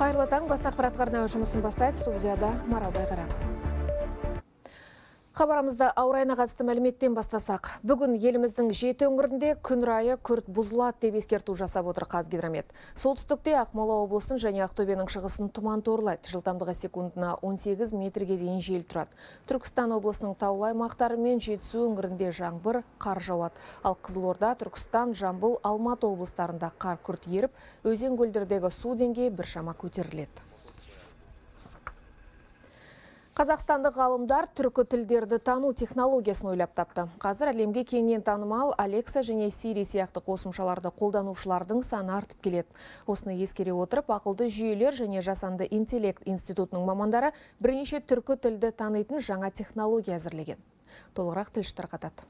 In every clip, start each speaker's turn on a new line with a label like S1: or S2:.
S1: Қайырлы таң, бас ақпарат арнайы жұмысын бастайды. Студияда Марал Байғара. Хабарымызда ауа райына қатысты мәліметтен бастасақ. Бүгін еліміздің 7 өңірінде күн райы күрт бұзылады деп ескерту жасап отыр Қазгидромет. Солтүстікте Ақмола облысын және Ақтөбенің шығысын тұман торлайды. Жылдамдығы секундына 18 метрге дейін жел тұрады. Түркістан облысының таулы аймақтары мен Жетісу өңірінде жаңбыр, қар жауады. Ал Қызылорда, Түркістан, Жамбыл, Алматы облыстарында қар күрт еріп, өзен көлдердегі су деңгейі біршама көтеріледі. Қазақстандық ғалымдар түркі тілдерді тану технологиясын ойлап тапты. Қазір әлемге кеңінен танымал Alexa және Siri сияқты қосымшаларды қолданушылардың саны артып келеді. Осыны ескере отырып, ақылды жүйелер және жасанды интеллект институтының мамандары бірнеше түркі тілді танитын жаңа технология әзірлеген. Толығырақ тілші тарқатады.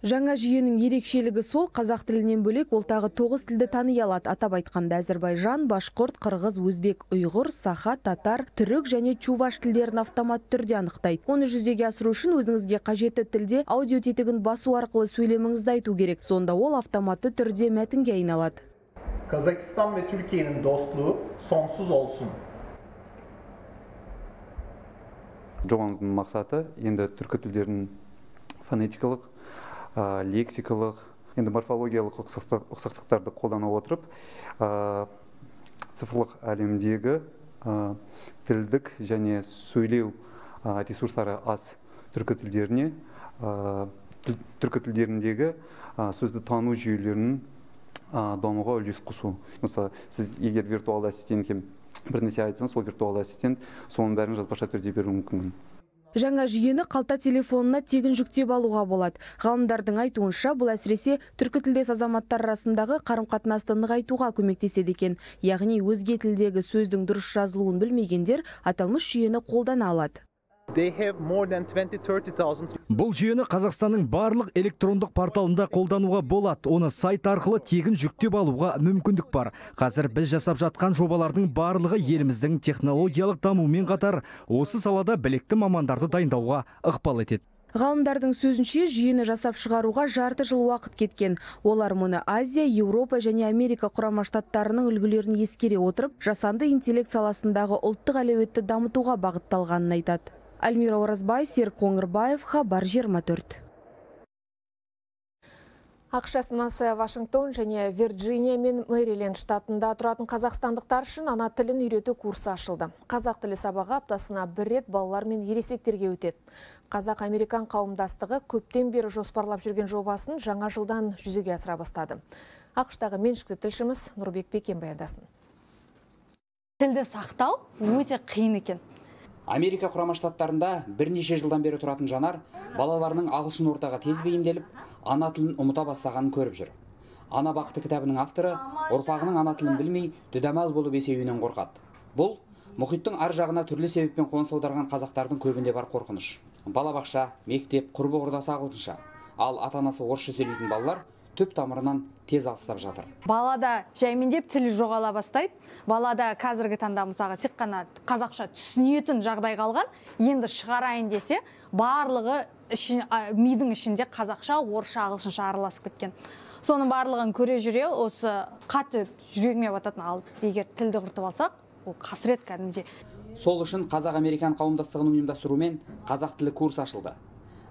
S2: Жаңа жүйенің ерекшелігі сол, қазақ тілінен бөлек ол тағы 9 тілді тани алады. Атап айтқанда Әзірбайжан, башқұрт, қырғыз, өзбек, ұйғыр, саха, татар, түрік және чуваш тілдерін автомат түрде анықтайды. Оны жүзеге асыру үшін өзіңізге қажетті тілде аудио тетігін басу арқылы сөйлеміңізді айту керек. Сонда ол автоматты түрде мәтінге айналады.
S3: Kazakistan ve Türkiye'nin dostluğu sonsuz olsun.
S4: Жобамыздың мақсаты енді түркі тілдерінің фонетикалық, лексикалық, енді морфологиялық ұқсастықтарды қолдана отырып, цифрлық әлемдегі тілдік және сөйлеу ресурстары аз түркі тілдеріндегі сөзді тану жүйелерінің дамуға үлес қосу. Мысалы, сіз егер виртуалды ассистентке бір нәрсе айтсаңыз, сол виртуалды ассистент соның бәрін жазбаша түрде беруі мүмкін.
S2: Жаңа жүйені қалта телефонына тегін жүктеп алуға болады. Ғалымдардың айтуынша, бұл әсіресе түркі тілдес азаматтар арасындағы қарым-қатынасты нығайтуға көмектеседі екен. Яғни өзге тілдегі сөздің дұрыс жазылуын білмегендер аталмыш жүйені қолдана алады.
S5: Бұл жүйені Қазақстанның барлық электрондық порталында қолдануға болады. Оны сайт арқылы тегін жүктеп алуға мүмкіндік бар. Қазір біз жасап жатқан жобалардың барлығы еліміздің технологиялық дамуымен қатар осы салада білікті мамандарды дайындауға ықпал етеді.
S2: Ғалымдардың сөзінше, жүйені жасап шығаруға жарты жыл уақыт кеткен. Олар мұны Азия, Еуропа және Америка құрама штаттарының үлгілерін ескере отырып, жасанды интеллект саласындағы ұлттық әлеуетті дамытуға бағытталғанын айтады. Альмира Оразбай, Серік Қоңырбаев, Хабар 24.
S1: ақш астанасы Вашингтон және Вирджиния мен Мэриленд штатында тұратын қазақстандықтар үшін ана тілін үйрету курсы ашылды. Қазақ тілі сабағы аптасына бір рет балалар мен ересектерге өтеді. Қазақ-американ қауымдастығы көптен бері жоспарлап жүрген жобасын жаңа жылдан жүзеге асыра бастады. ақштағы меншікті тілшіміз Нұрбек Бекен баяндасын.
S6: Тілді сақтау өте қиын екен.
S7: Америка құрама штаттарында бірнеше жылдан бері тұратын жанар балаларының ағылшын ортаға тез бейімделіп, ана тілін ұмыта бастағанын көріп жүр. Ана бақыты кітабының авторы ұрпағының ана тілін білмей дүдамал болып есеюінен қорқады. Бұл мұхиттың ар жағына түрлі себеппен қоныс аударған қазақтардың көбінде бар қорқыныш. Балабақша, мектеп, құрбы-құрдасы ағылшынша, ал ата-анасы орысша сөйлейтін балалар түп тамырынан тез алыстап жатыр.
S6: Балада жаймендеп тілі жоғала бастайды. Балада қазіргі таңда мысалға тек қана қазақша түсінетін жағдай қалған, енді шығарайын десе, барлығы мидың ішінде қазақша, орысша, ағылшынша араласып кеткен. Соның барлығын көре жүре, осы қатты жүрегіме бататын, ал егер тілді құртып алсақ, ол қасірет кәдімде.
S7: Сол үшін Қазақ-американ қауымдастығының ұйымдастыруымен қазақ тілі курс ашылды.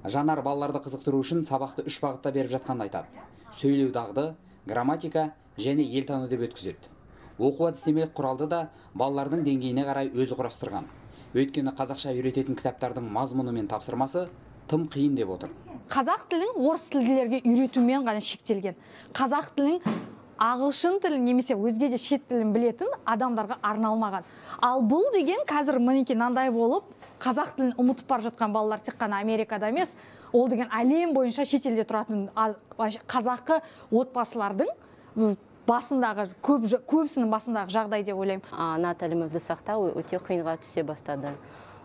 S7: Жанар балаларды қызықтыру үшін сабақты 3 бағытта беріп жатқанын айтады. Сөйлеу дағды, грамматика және елтану деп өткізеді. Оқу әдістемелік құралды да балалардың деңгейіне қарай өзі құрастырған. Өйткені қазақша үйрететін кітаптардың мазмұны мен тапсырмасы тым қиын деп отыр.
S6: Қазақ тілін орыс тілділерге үйретумен ғана шектелген. Қазақ тілін ағылшын тілін немесе өзге де шет тілін білетін адамдарға арналмаған. Ал бұл деген қазір мінеки мынандай болып, қазақ тілін ұмытып бара жатқан балалар тек қана Америкада емес, ол деген әлем бойынша шетелде тұратын қазақы отбасылардың басындағы, көбісінің басындағы жағдай деп ойлаймын.
S8: Ана тілімізді сақтау өте қиынға түсе бастады.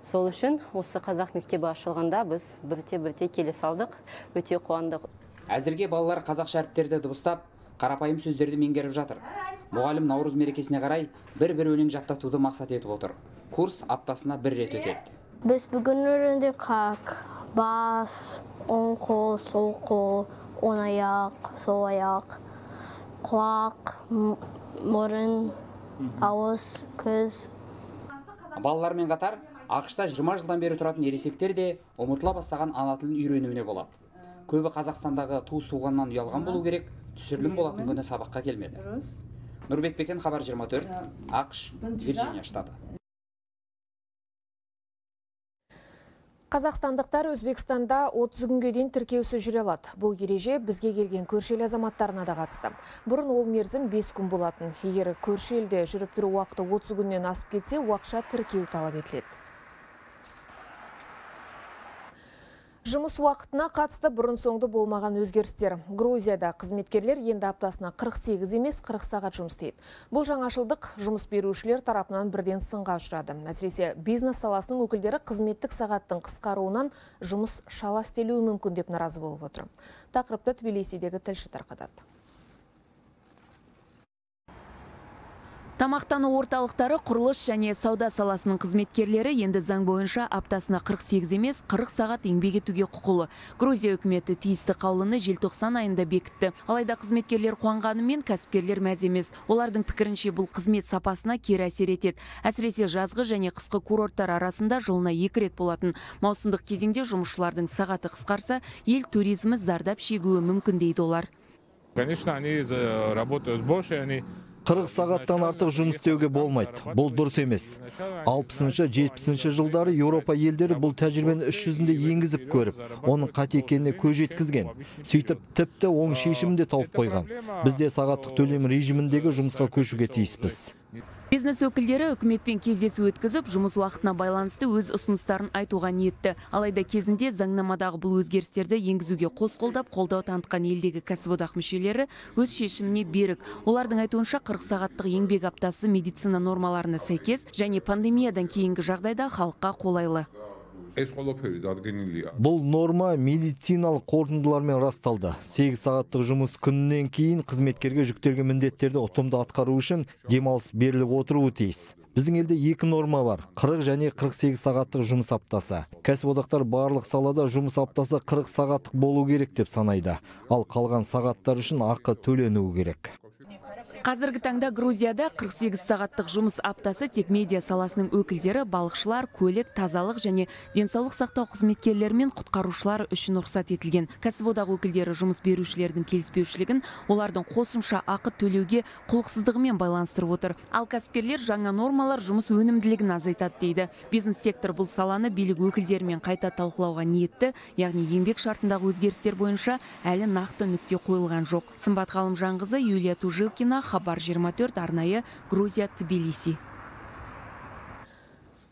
S8: Сол үшін осы қазақ мектебі ашылғанда біз бірте келе салдық, өте қуандық.
S7: Әзірге балалар қазақша әріптерді дыбыстап, қарапайым сөздерді меңгеріп жатыр. Мұғалім Наурыз мерекесіне қарай бір өлең жаттатуды мақсат етіп отыр. Курс аптасына бір рет өтеді.
S9: Біз бүгін үйрендік как, бас, оң қол, сол қол, оң аяқ, сол аяқ, құлақ, мұрын, ауыз, көз.
S7: Балалармен қатар ақшта 20 жылдан бері тұратын ересектер де ұмытыла бастаған ана тілін үйренуіне болады. Көбі Қазақстандағы туыс туғаннан ұялған болу керек, түсірілім болатын күні сабаққа келмеді. Нұрбек Бекен, Хабар 24, ақш, Вирджиния штаты.
S1: Қазақстандықтар Өзбекстанда 30 күнге дейін тіркеусіз жүре алады. Бұл ереже бізге келген көрші ел азаматтарына да қатысты. Бұрын ол мерзім 5 күн болатын. Егер көрші елде жүріп тұру уақыты 30 күннен асып кетсе, уақытша тіркеу талап етіледі. Жұмыс уақытына қатысты бұрын соңды болмаған өзгерістер. Грузияда қызметкерлер енді аптасына 48 емес 40 сағат жұмыс істейді. Бұл жаңашылдық жұмыс берушілер тарапынан бірден сынға ұшырады. Әсіресе бизнес саласының өкілдері қызметтік сағаттың қысқаруынан жұмыс шала істелуі мүмкін деп наразы болып отыр. Тақырыпты Тбилисидегі тілші тарқатады.
S10: Тамақтану орталықтары, құрылыс және сауда саласының қызметкерлері енді заң бойынша аптасына 48 емес 40 сағат еңбек етуге құқылы. Грузия үкіметі тиісті қаулыны желтоқсан айында бекітті. Алайда қызметкерлер қуанғанымен кәсіпкерлер мәз емес. Олардың пікірінше бұл қызмет сапасына кері әсер етеді. Әсіресе жазғы және қысқы курорттар арасында жылына 2 рет болатын маусымдық кезеңде жұмысшылардың сағаты қысқарса, ел туризмі зардап шегуі мүмкін дейді олар.
S11: Конечно, они работают больше, они
S5: 40 сағаттан артық жұмыс істеуге болмайды. Бұл дұрыс емес. 60-70 жылдары Еуропа елдері бұл тәжірибені іс жүзінде енгізіп көріп, оның қате екеніне көз жеткізген. Сөйтіп тіпті оң шешімін де тауып қойған. Біз де сағаттық төлем режиміндегі жұмысқа көшуге тиіспіз.
S10: Бизнес өкілдері үкіметпен кездесу өткізіп, жұмыс уақытына байланысты өз ұсыныстарын айтуға ниетті. Алайда кезінде заңнамадағы бұл өзгерістерді енгізуге қос қолдап, қолдау танытқан елдегі кәсіподақ мүшелері өз шешіміне берік. Олардың айтуынша 40 сағаттық еңбек аптасы медицина нормаларына сәйкес және пандемиядан кейінгі жағдайда халыққа қолайлы.
S5: Бұл норма медициналық қорытындылармен расталды. 8 сағаттық жұмыс күнінен кейін қызметкерге жүктелген міндеттерді ұтымды атқару үшін демалыс беріліп отыруы тиіс. Біздің елде 2 норма бар: 40 және 48 сағаттық жұмыс аптасы. Кәсіподақтар барлық салада жұмыс аптасы 40 сағаттық болу керек деп санайды. Ал қалған сағаттар үшін ақы төленуі керек.
S10: Қазіргі таңда Грузияда 48 сағаттық жұмыс аптасы тек медиа саласының өкілдері, балықшылар, көлік, тазалық және денсаулық сақтау қызметкерлері мен құтқарушылар үшін рұқсат етілген. Кәсіподақ өкілдері жұмыс берушілердің келіспеушілігін олардың қосымша ақы төлеуге құлықсыздығымен байланыстырып отыр. Ал кәсіпкерлер жаңа нормалар жұмыс өнімділігін азайтады дейді. Бизнес сектор бұл саланы билік өкілдерімен қайта талқылауға ниетті, яғни еңбек шартындағы өзгерістер бойынша әлі нақты нүкте қойылған жоқ. Сымбат Ғалымжанқызы, Юлия Тужилкина, Хабар 24, арнайы, Грузия, Тбилиси.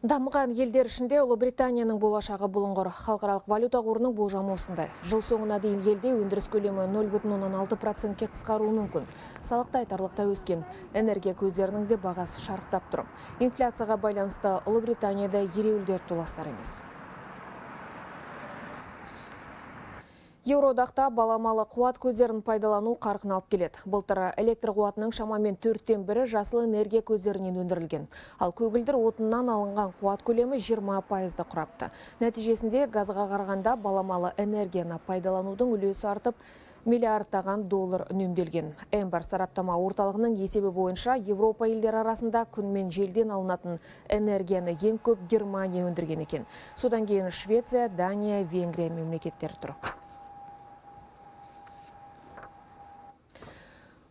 S1: Дамыған елдер ішінде Ұлыбританияның болашағы бұлыңғыр. Халықаралық валюта қорының болжамы осындай. Жыл соңына дейін елде өндіріс көлемі 0,6%-ке қысқаруы мүмкін. Салықта айтарлықта өскен. Энергия көздерінің де бағасы шарықтап тұр. Инфляцияға байланысты Ұлыбританияда ереуілдер толастар емес. Еуроодақта баламалы қуат көздерін пайдалану қарқын алып келеді. Былтыр электр қуатының шамамен 4-тен бірі жасыл энергия көздерінен өндірілген. Ал көгілдір отыннан алынған қуат көлемі 20%-ды құрапты. Нәтижесінде газға қарағанда баламалы энергияны пайдаланудың үлесі артып, миллиардтаған доллар үнемделген. Эмбар сараптама орталығының есебі бойынша Европа елдері арасында күн мен желден алынатын энергияны ең көп Германия өндірген екен. Содан кейін Швеция, Дания, Венгрия мемлекеттері тұр.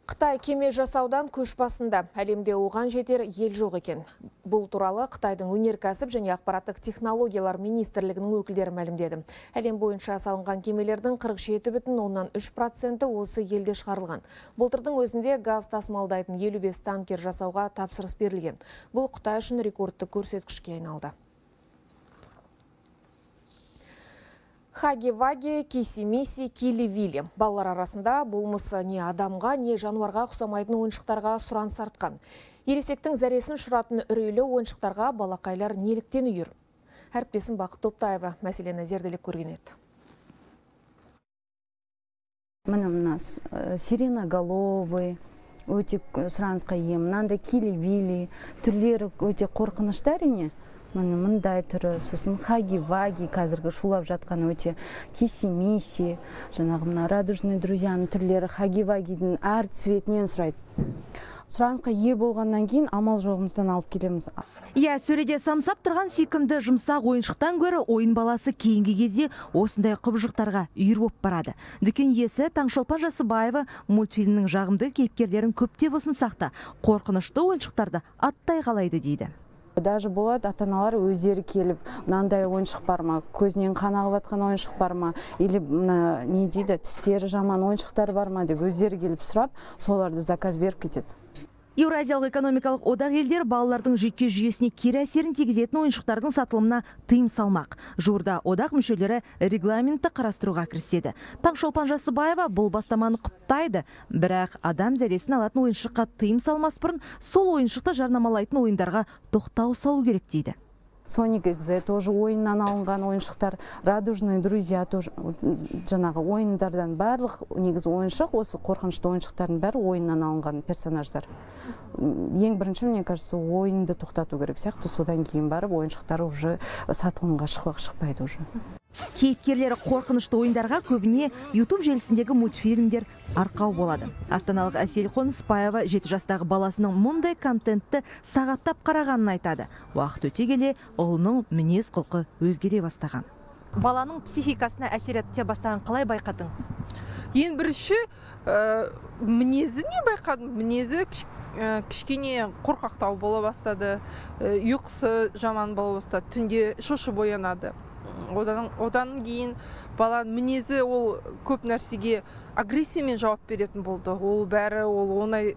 S1: Қытай кеме жасаудан көш басында, әлемде оған жетер ел жоқ екен. Бұл туралы Қытайдың өнеркәсіп және ақпараттық технологиялар министрлігінің өкілдері мәлімдеді. Әлем бойынша салынған кемелердің 47,3% осы елде шығарылған. Былтырдың өзінде газ тасымалдайтын 55 танкер жасауға тапсырыс берілген. Бұл Қытай үшін рекордты көрсеткішке айналды. Хаги-ваги, киси-миси, кили-вили. Балалар арасында болмысы не адамға, не жануарға ұқсамайтын ойыншықтарға сұраныс артқан. Ересектің зәресін ұшыратын үрейлі ойыншықтарға балақайлар неліктен үйір? Әріптесім Бақыт Топтаева мәселені зерделеп көрген еді.
S12: Мына сиреноголовый, өте сұранысқа ие, мынандай кили-вили, түрлері өте қорқынышты әрине. Мындай түрі, сосын хаги-ваги, қазіргі шулап жатқан өте киси-миси, жаңағы радужный друзьяның түрлері хаги-вагидің әр цветінен сұрайды. сұранысқа ие болғаннан кейін амал жоғымыздан алып келеміз.
S2: Иә, сөреде самсап тұрған сүйкімді жұмсақ ойыншықтан гөрі ойын баласы кейінгі кезде осындай құбыжықтарға үйір болып барады. Дүкен иесі Таңшолпан Жасыбаева мультфильмнің жағымды кейіпкерлерін көптеп ұсынсақ та, қорқынышты ойыншықтарды аттай қалайды дейді.
S12: Даже болады, ата-аналар өздері келіп, мынандай ойыншық бар ма, көзінен қан ағып жатқан ойыншық бар ма, или не дейді, тістері жаман ойыншықтар бар ма деп өздері келіп сұрап, соларды заказ беріп кетеді.
S2: Еуразиялық экономикалық одақ елдер балалардың жүйке жүйесіне кері әсерін тигізетін ойыншықтардың сатылымына тыйым салмақ. Жуырда одақ мүшелері регламентті қарастыруға кіріседі. Таңшолпан Жасыбаева бұл бастаманы құптайды, бірақ адам зәресін алатын ойыншыққа тыйым салмас бұрын сол ойыншықты жарнамалайтын ойындарға тоқтау салу керек дейді.
S12: Соник Экзе тоже ойыннан алынған ойыншықтар, Радужные друзья тоже жаңағы ойындардан барлық негізі ойыншық, осы қорқынышты ойыншықтардың бәрі ойыннан алынған персонаждар. Ең бірінші, мне кажется, ойынды тоқтату керек сияқты, содан кейін барып ойыншықтар уже сатылымға шықпайды уже.
S2: Кейіпкерлері қорқынышты ойындарға көбіне YouTube желісіндегі мультфильмдер арқау болады. Астаналық Әсел Қонысбаева 7 жастағы баласының мұндай контентті сағаттап қарағанын айтады. Уақыт өте келе ұлының мінез құлқы өзгере бастаған. Баланың психикасына әсер ете бастаған қалай байқадыңыз?
S13: Ең бірінші мінезі не байқадым? Мінезі кішкене қорқақтау бола бастады, ұйқысы жаман бола бастады, түнде шошып оянады. Одан кейін баланың мінезі ол көп нәрсеге агрессиямен жауап беретін болды. Ол бәрі оңай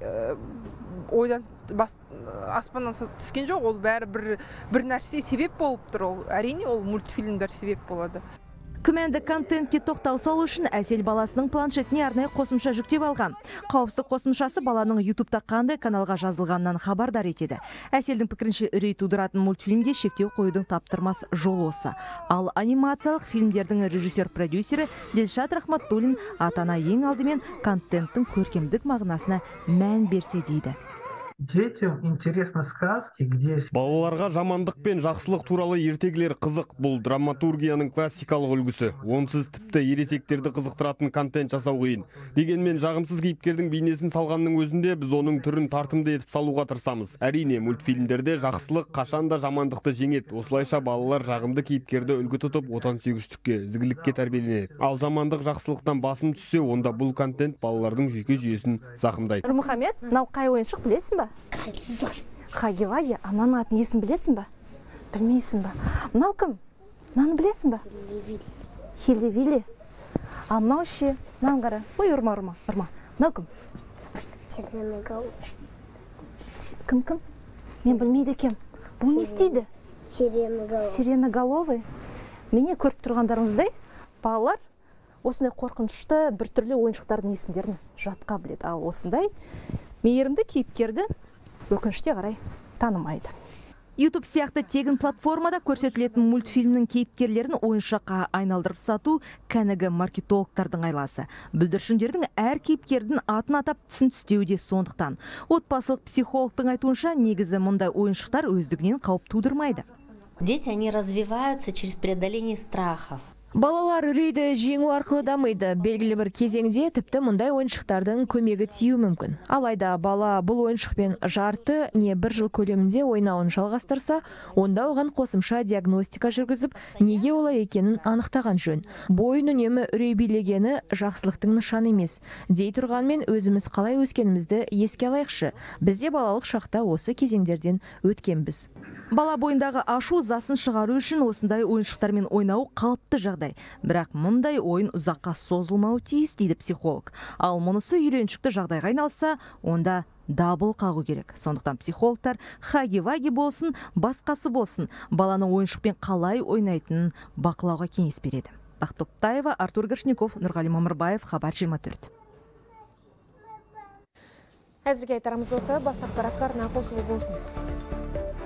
S13: ойдан аспаннан түскен жоқ, ол бәрі бір нәрсе себеп болып тұр. Әрине ол мультфильмдер себеп болады.
S2: Күмәнді контентке тоқтау салу үшін Әсел баласының планшетіне арнайы қосымша жүктеп алған. Қауіпсіздік қосымшасы баланың YouTube-та қандай каналға жазылғанынан хабардар етеді. Әселдің пікірінше үрей тудыратын мультфильмге шектеу қоюдың таптырмас жолы осы. Ал анимациялық фильмдердің режиссер-продюсері Дилшат Рахматтуллин ата-ана ең алдымен контенттің көркемдік мағынасына мән берсе дейді.
S14: Детям интересны сказки, где...
S15: Балаларға жамандық пен жақсылық туралы ертегілер қызық. Бұл драматургияның классикалық үлгісі. Онсыз тіпті ересектерді қызықтыратын контент жасау қиын. Дегенмен жағымсыз кейіпкердің бейнесін салғанның өзінде біз оның түрін тартымды етіп салуға тырысамыз. Әрине, мультфильмдерде жақсылық қашанда жамандықты жеңеді. Осылайша балалар жағымды кейіпкерді үлгі тұтып, отансүйгіштікке, ізгілікке тәрбиеленеді. Ал жамандық жақсылықтан басым түссе, онда бұл контент балалардың жүйке жүйесін зақымдайды.
S2: Нұрмұхамед, мынау қай ойыншық білесің ба? Хаги-Ваги, а мынаның атын есін білесің ба? Білмейсің ба? Мынау кім? Мынаны білесің ба? Хилли-Вилли. А мынау ше, мынаны қара. Ой, ұрма. Мынау кім? Кім? Мен білмейді екем. Бұл не істейді? Сиреноголовый. Мені көріп тұрғандарыңыздай, балалар осындай қорқынышты біртүрлі ойыншықтардың есімдерін жатқа біледі. Ал осындай мейірімді кейіпкерді өкінішке қарай танымайды. YouTube сияқты тегін платформада көрсетілетін мультфильмнің кейіпкерлерін ойыншыққа айналдырып сату кәнігі маркетологтардың айласы. Бүлдіршіндердің әр кейіпкердің атын атап түсін түстеуде сондықтан. Отбасылық психологтың айтуынша негізі мұндай ойыншықтар өздігінен қауіп тудырмайды.
S16: Дети, они развиваются через преодоление страхов.
S10: Балалар үрейді жеңу арқылы дамиды. Белгілі бір кезеңде тіпті мұндай ойыншықтардың көмегі тию мүмкін. Алайда бала бұл ойыншықпен жарты не бір жыл көлемінде ойнауын жалғастырса, онда оған қосымша диагностика жүргізіп, неге олай екенін анықтаған жөн. Бойын үнемі үрей билегені жақсылықтың нышаны емес. Дей тұрғанмен өзіміз қалай өскенімізді еске алайықшы. Бізде балалық шақта осы кезеңдерден өткенбіз. Бала бойындағы ашу засын шығару үшін осындай ойыншықтармен ойнау қалыпты жағдай. Бірақ мұндай ойын ұзаққа созылмауы тиіс дейді психолог. Ал мұнысы үйреншікті жағдайға айналса, онда дабыл қағу керек. Сондықтан психологтар Хаги-Ваги болсын, басқасы болсын, баланың ойыншықпен қалай ойнайтынын бақылауға кеңес береді. Бақтоптаева, Артур Гашников, Нұрғали Мамырбаев, Хабар 24.
S1: Әзірге айтарымыз осы, басты ақпаратқа арна қосылу болсын.